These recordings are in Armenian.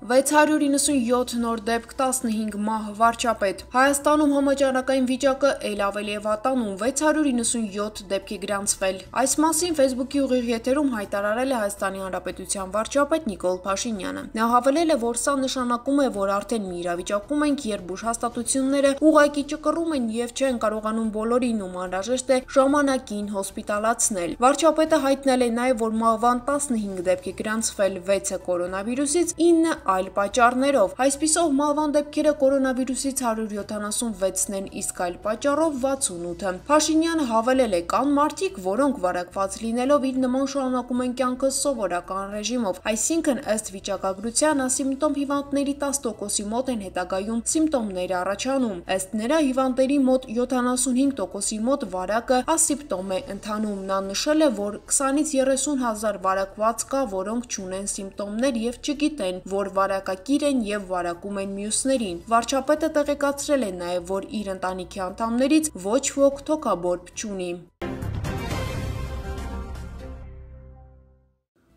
697 նոր դեպք 15 մահ վարչապետ։ Հայաստանում համաճարակային վիճակը ել ավելի է վատանում 697 դեպքի գրանցվել։ Այս մասին Facebook-ի ուղիղ եթերում հայտարարել է Հայաստանի Հանրապետության վարչապետ Նիկոլ Փաշինյանը։ Նա հավելել է, որ սա նշանակում է, որ արդեն մի իրավիճակում ենք, երբ ուժհաստատությունները ուղղակի ճկռում են եւ չեն կարողանում բոլորին ում անհրաժեշտ է ժամանակին հոսպիտալացնել։ Վարչապետը հայտնել է նաեւ, որ մահվան 15 դեպքի գրանցվել 6-ը կորոնավիրուսից, 9 այլ պատճառներով։ Այսպիսով մահվան դեպքերը կորոնավիրուսից 176-ն են, իսկ այլ պատճառով 68-ը։ Փաշինյանը հավելել է, կան մարդիկ, որոնք վարակված լինելով իր նման շարունակում են կյանքը սովորական ռեժիմով, այսինքն ըստ վիճակագրության ասիմպտոմ հիվանդների 10%-ի մոտ են հետագայում սիմպտոմներ առաջանում։ Ըստ նրա հիվանդների մոտ 75%-ի մոտ վարակը ասիմպտոմ է ընթանում։ Նա նշել է, որ 20-ից 30 հազար վարակված կա, որոնք չունեն սիմպտոմներ եւ չգիտեն, որ վարակակիր են եւ վարակում են մյուսներին։ Վարչապետը տեղեկացրել է նաեւ, որ իր ընտանիքի անդամներից ոչ ոք թոքաբորբ չունի։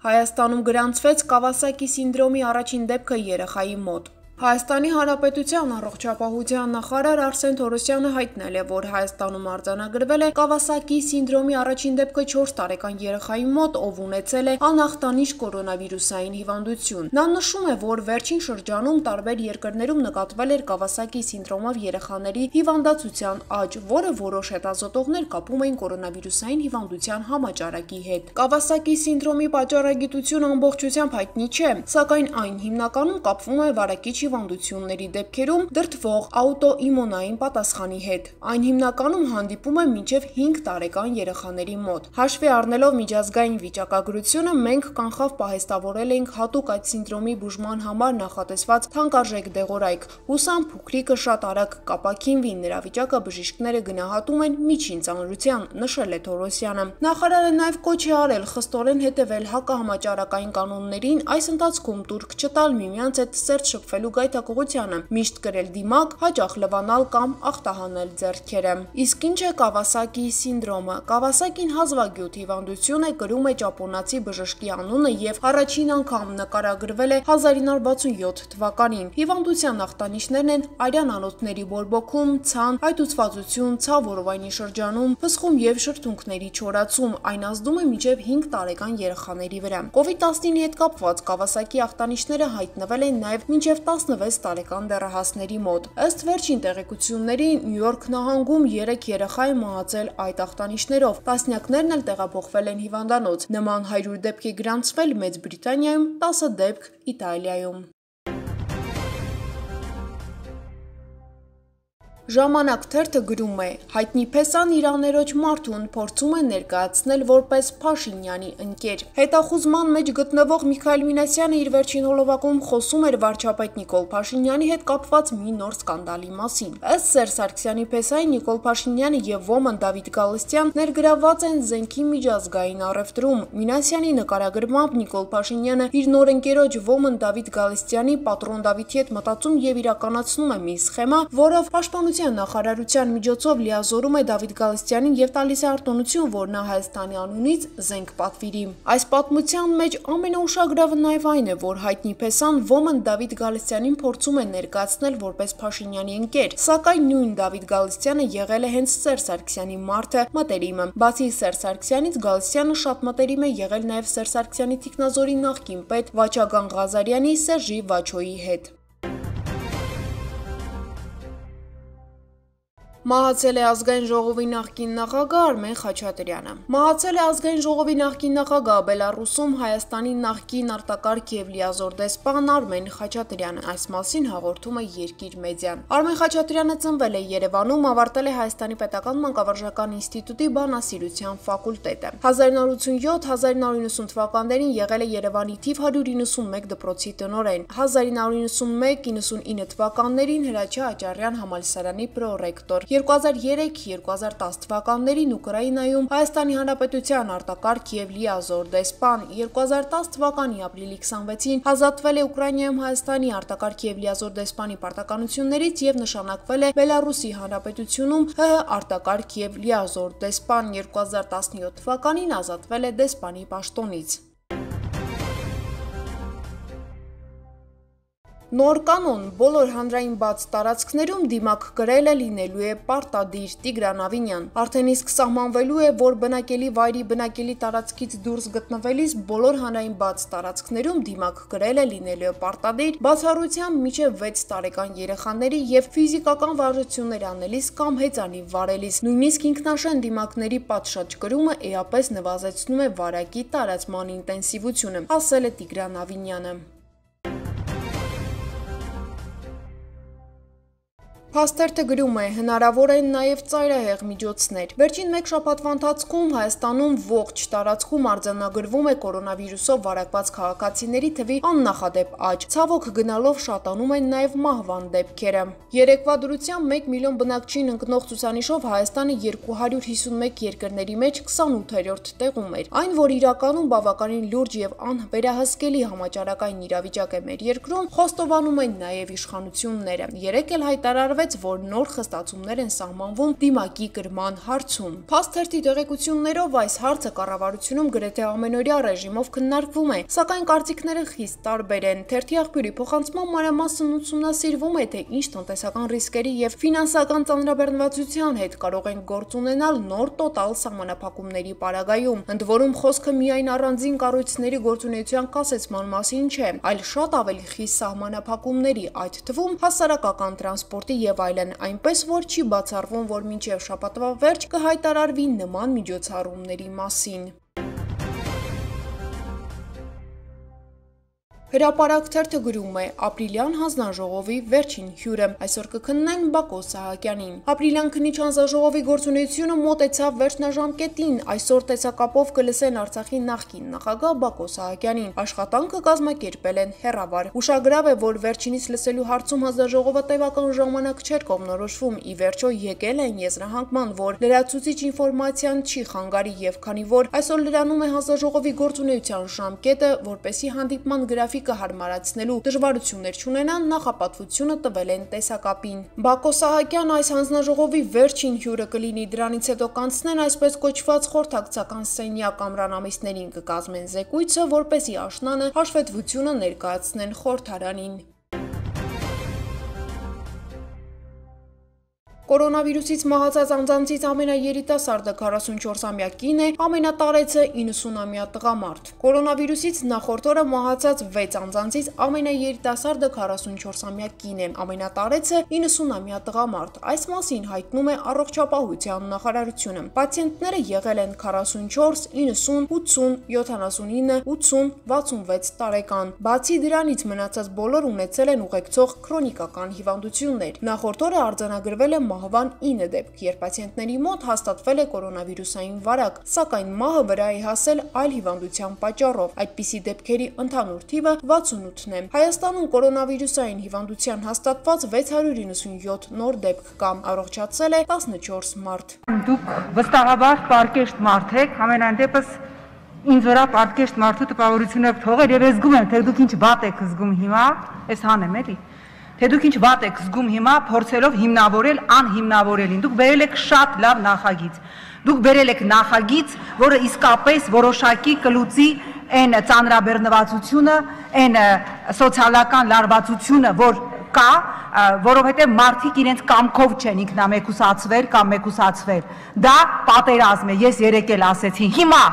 Հայաստանում գրանցվեց Կավասակի սինդրոմի առաջին դեպքը երեխայի մոտ։ Հայաստանի Հանրապետության առողջապահության նախարար Արսեն Թորոսյանը հայտնել է, որ Հայաստանում արձանագրվել է Կավասակի սինդրոմի առաջին դեպքը 4 տարեկան երեխայի մոտ, ով ունեցել է անախտանիշ կորոնավիրուսային հիվանդություն։ Նա նշում է, որ վերջին շրջանում տարբեր երկրներում նկատվել էր Կավասակի սինդրոմով երեխաների հիվանդացության աճ, որը որոշ հետազոտողներ կապում էին կորոնավիրուսային հիվանդության համաճարակի հետ։ Կավասակի սինդրոմի պատճառագիտությունը ամբողջությամբ հայտնի չէ, սակայն այն հիմնականում կապվում է վարակիչ հիվանդությունների դեպքերում դրդվող աուտոիմունային պատասխանի հետ։ Այն հիմնականում հանդիպում է մինչև 5 տարեկան երեխաների մոտ։ Հաշվի առնելով միջազգային վիճակագրությունը, մենք կանխավ պահեստավորել էինք հատուկ այդ սինդրոմի բուժման համար նախատեսված թանկարժեք դեղորայք։ Հուսամ փոքրիկը շատ արագ կապաքինվի, նրա վիճակը բժիշկները գնահատում են միջին ծանրության, նշել է Թորոսյանը։ Նախարարը նաև կոչ է արել խստորեն հետևել հակահամաճարակային կանոններին, այս ընթացքում տուրք չտալ միմյանց հետ սերտ շփվելու գայթակղությանը, միշտ կրել դիմակ, հաճախ լվանալ կամ ախտահանել ձեռքերը։ Իսկ ինչ է Կավասակի սինդրոմը։ Կավասակին հազվագյուտ հիվանդություն է, կրում է ճապոնացի բժշկի անունը եւ առաջին անգամ նկարագրվել է 1967 թվականին։ Հիվանդության ախտանիշներն են արյան անոթների բորբոքում, ցան, այտուցվածություն, ցավ որովայնի շրջանում, փսխում եւ շրթունքների չորացում։ Այն ազդում է մինչեւ 5 տարեկան երեխաների վրա։ COVID-19-ի հետ կապված Կավասակի ախտանիշները հայտնվել են նաեւ մինչեւ 16 տարեկան դեռահասների մոտ։ Ըստ վերջին տեղեկությունների, Նյու Յորք նահանգում 3 երեխա է մահացել այդ ախտանիշներով, տասնյակներն էլ տեղափոխվել են հիվանդանոց։ Նման 100 դեպք է գրանցվել Մեծ Բրիտանիայում, 10 դեպք Իտալիայում։ Ժամանակ թերթը գրում է. հայտնի փեսան իր աներոջ Մարթուն փորձում է ներկայացնել որպես Փաշինյանի ընկեր։ Հետախուզման մեջ գտնվող Միքայել Մինասյանը իր վերջին հոլովակում խոսում էր վարչապետ Նիկոլ Փաշինյանի հետ կապված մի նոր սկանդալի մասին։ Ըստ Սերժ Սարգսյանի փեսայի Նիկոլ Փաշինյանը եւ ոմն Դավիթ Գալստյան ներգրավված են զենքի միջազգային առևտրում։ Մինասյանի նկարագրմամբ Նիկոլ Փաշինյանը իր նոր ընկերոջ ոմն Դավիթ Գալստյանի պատրոն Դավիթի հետ մտածում եւ իրականացնում է մի սխեմա, որով պաշտպանության նախարարության միջոցով լիազորում է Դավիթ Գալստյանին եւ տալիս է արտոնություն, որ նա Հայաստանի անունից զենք պատվիրի։ Այս պատմության մեջ ամենաուշագրավը նաեւ այն է, որ հայտնի փեսան ոմն Դավիթ Գալստյանին փորձում է ներկայացնել որպես Փաշինյանի ընկեր, սակայն նույն Դավիթ Գալստյանը եղել է հենց Սերժ Սարգսյանի մարդը, մտերիմը։ Բացի Սերժ Սարգսյանից Գալստյանը շատ մտերիմ է եղել նաեւ Սերժ Սարգսյանի թիկնազորի նախկին պետ Վաչագան Ղազարյանի Սերժի Վաչոյի հետ։ Մահացել է Ազգային ժողովի նախկին նախագահ Արմեն Խաչատրյանը։ Մահացել է Ազգային ժողովի նախկին նախագահ Բելառուսում Հայաստանի նախկին արտակարգ եւ լիազոր դեսպան Արմեն Խաչատրյանը։ Այս մասին հաղորդում է Երկիր մեդիան։ Արմեն Խաչատրյանը ծնվել է Երևանում, ավարտել է Հայաստանի պետական մանկավարժական ինստիտուտի բանասիրության ֆակուլտետը։ 1987-1990 թվականներին եղել է Երևանի թիվ 191 դպրոցի տնօրեն։ 1991-99 թվականներին Հրաչյա Աճարյան համալսարանի պրոռեկտոր։ 2003-2010 թվականներին Ուկրաինայում Հայաստանի Հանրապետության արտակարգ եւ լիազոր դեսպան, 2010 թվականի ապրիլի 26-ին ազատվել է Ուկրաինայում Հայաստանի արտակարգ եւ լիազոր դեսպանի պարտականություններից եւ նշանակվել է Բելառուսի Հանրապետությունում ՀՀ արտակարգ եւ լիազոր դեսպան, 2017 թվականին ազատվել է դեսպանի պաշտոնից։ Նոր կանոն բոլոր հանրային բաց տարածքներում դիմակ կրելը լինելու է պարտադիր։ Տիգրան Ավինյան։ Արդեն իսկ սահմանվելու է, որ բնակելի վայրի բնակելի տարածքից դուրս գտնվելիս բոլոր հանրային բաց տարածքներում դիմակ կրելը լինելու է պարտադիր, բացառությամբ մինչև 6 տարեկան երեխաների եւ ֆիզիկական վարժություններ անելիս կամ հեծանիվ վարելիս։ Նույնիսկ ինքնաշեն դիմակների պատշաճ կրումը էապես նվազեցնում է վարակի տարածման ինտենսիվությունը, ասել է Տիգրան Ավինյանը։ Փաստերթը գրում է, հնարավոր են նաև ծայրահեղ միջոցներ։ Վերջին մեկ շաբաթվա ընթացքում Հայաստանում ողջ տարածքում արձանագրվում է կորոնավիրուսով վարակված քաղաքացիների թվի աննախադեպ աճ։ Ցավոք գնալով շատանում են նաև մահվան դեպքերը։ Երեկվա դրությամբ 1 միլիոն բնակչին ընկնող ցուցանիշով Հայաստանը 251 երկրների մեջ 28-րդ տեղում էր։ Այն, որ իրականում բավականին լուրջ եւ անվերահսկելի համաճարակային իրավիճակ է մեր երկրում, խոստովանում են նաև իշխանությունները։ Երեկ էլ հայտարարվեց, որ նոր խստացումներ են սահմանվում դիմակի կրման հարցում։ Փաստերթի տեղեկություններով այս հարցը կառավարությունում գրեթե ամենօրյա ռեժիմով քննարկվում է, սակայն կարծիքները խիստ տարբեր են։ Թերթի աղբյուրի փոխանցման մանրամասն ուսումնասիրվում է, թե ինչ տնտեսական ռիսկերի եւ ֆինանսական ծանրաբեռնվածության հետ կարող են գործ ունենալ նոր տոտալ սահմանափակումների պարագայում։ Ընդ որում խոսքը միայն առանձին կառույցների գործունեության կասեցման մասին չէ, այլ շատ ավելի խիստ սահմանափակումների, այդ թվում հասարակական տրանսպորտի եւ այլն, այնպես որ չի բացառվում, որ մինչև շաբաթվա վերջ կհայտարարվի նման միջոցառումների մասին։ Հրապարակ թերթը գրում է. ապրիլյան հանձնաժողովի վերջին հյուրը։ Այսօր կքննեն Բակո Սահակյանին։ Ապրիլյան քննիչ հանձնաժողովի գործունեությունը մոտեցավ վերջնաժամկետին։ Այսօր տեսակապով կլսեն Արցախի նախկին նախագահ Բակո Սահակյանին։ Աշխատանքը կազմակերպել են հեռավար։ Ուշագրավ է, որ վերջինից լսելու հարցում հանձնաժողովը տևական ժամանակ չէր կողմնորոշվում։ Ի վերջո եկել են եզրահանգման, որ լրացուցիչ ինֆորմացիան չի խանգարի եւ քանի որ այսօր լրանում է հանձնաժողովի գործունեության ժամկետը, որպեսզի հանդիպման գրաֆիկ հարմարացնելու դժվարություններ չունենան, նախապատվությունը տվել են տեսակապին։ Բակո Սահակյան այս հանձնաժողովի վերջին հյուրը կլինի, դրանից հետո կանցնեն այսպես կոչված խորհրդակցական սենյակ ամռանամիսներին կկազմեն զեկույցը, որպեսզի աշնանը հաշվետվությունը ներկայացնեն խորհրդարանին։ Կորոնավիրուսից մահացած անձանցից ամենաերիտասարդը 44-ամյա կին է, ամենատարեցը 90-ամյա տղամարդ։ Կորոնավիրուսից նախորդ օրը մահացած 6 անձանցից ամենաերիտասարդը 44-ամյա կին է, ամենատարեցը 90-ամյա տղամարդ։ Այս մասին հայտնում է Առողջապահության նախարարությունը։ Պացիենտները եղել են 44, 90, 80, 79, 80, 66 տարեկան։ Բացի դրանից մնացած բոլոր ունեցել են ուղեկցող քրոնիկական հիվանդություններ։ Նախորդ օրը արձանագրվել է մահվան 9 դեպք, երբ պացիենտների մոտ հաստատվել է կորոնավիրուսային վարակ, սակայն մահը վրա է հասել այլ հիվանդության պատճառով։ Այդպիսի դեպքերի ընդհանուր թիվը 68-ն է։ Հայաստանում կորոնավիրուսային հիվանդության հաստատված 697 նոր դեպք կա, առողջացել է 14 մարդ։ Դուք վստահաբար պարկեշտ մարդ եք, ամենայն դեպս ինձ վրա պարկեշտ մարդու տպավորությունը թողել եւ ես զգում եմ, թե դուք ինչ վատ եք զգում հիմա, ես հանեմ էլի։ Թե դուք ինչ վատ եք զգում հիմա, փորձելով հիմնավորել անհիմնավորելին։ Դուք բերել եք շատ լավ նախագիծ։ Դուք բերել եք նախագիծ, որը իսկապես որոշակի կլուծի այն ծանրաբեռնվածությունը, այն սոցիալական լարվածությունը, որ կա, որովհետև մարդիկ իրենց կամքով չեն ինքնամեկուսացվել կամ մեկուսացվել։ Դա պատերազմ է, ես երեկ էլ ասեցի։ Հիմա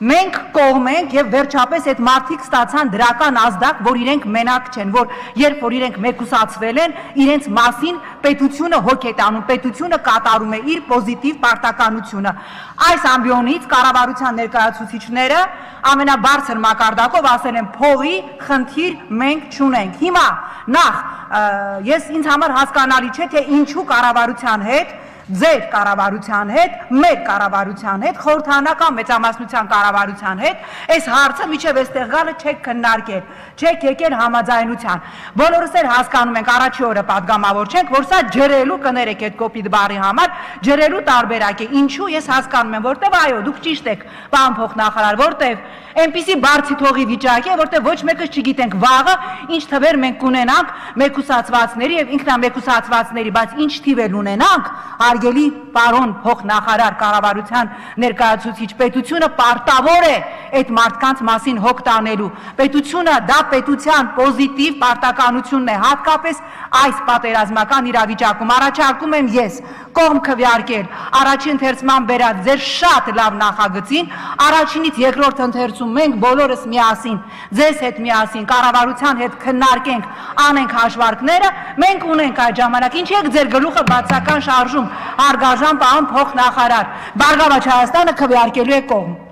մենք կողմ ենք եւ վերջապես այդ մարդիկ ստացան դրական ազդակ, որ իրենք մենակ չեն, որ երբ որ իրենք մեկուսացվել են, իրենց մասին պետությունը հոգ է տանում, պետությունը կատարում է իր պոզիտիվ պարտականությունը։ Այս ամբիոնից կառավարության ներկայացուցիչները ամենաբարձր մակարդակով ասել են փողի խնդիր մենք չունենք։ Հիմա նախ ինձ համար հասկանալի չէ, թե ինչու կառավարության հետ ձեր կառավարության հետ, մեր կառավարության հետ, խորհրդարանական մեծամասնության կառավարության հետ, այս հարցը միջև այստեղ գալը չեք քննարկել, չեք եկել համաձայնության։ Բոլորս էլ հասկանում ենք, առաջի օրը պատգամավոր չենք, որ սա ջրելու կներեք այդ կոպիտ բառի համար, ջրելու տարբերակ է։ Ինչու ես հասկանում եմ, որտեվ այո, դուք ճիշտ եք, պարոն փոխնախարար, որտեվ այնպիսի բարձի թողի վիճակ է, որտեղ ոչ մեկը չգիտենք վաղը ինչ թվեր մենք կունենանք մեկուսացվածների եւ ինքնամեկուսացվածների, բայց ինչ թիվ էլ ունենանք, հարգելի պարոն փոխնախարար կառավարության ներկայացուցիչ, պետությունը պարտավոր է այդ մարդկանց մասին հոգ տանելու։ Պետությունը դա պետության պոզիտիվ պարտականությունն է, հատկապես այս պատերազմական իրավիճակում։ Առաջարկում եմ ես կողմ քվեարկել առաջին ընթերցման բերած ձեր շատ լավ նախագծին, առաջինից երկրորդ ընթերցում մենք բոլորս միասին, ձեզ հետ միասին, կառավարության հետ քննարկենք, անենք հաշվարկները, մենք ունենք այդ ժամանակ, ինչի եք ձեր գլուխը բացական շարժում, հարգարժան պարոն փոխնախարար, Բարգավաճ Հայաստանը քվեարկելու է կողմ։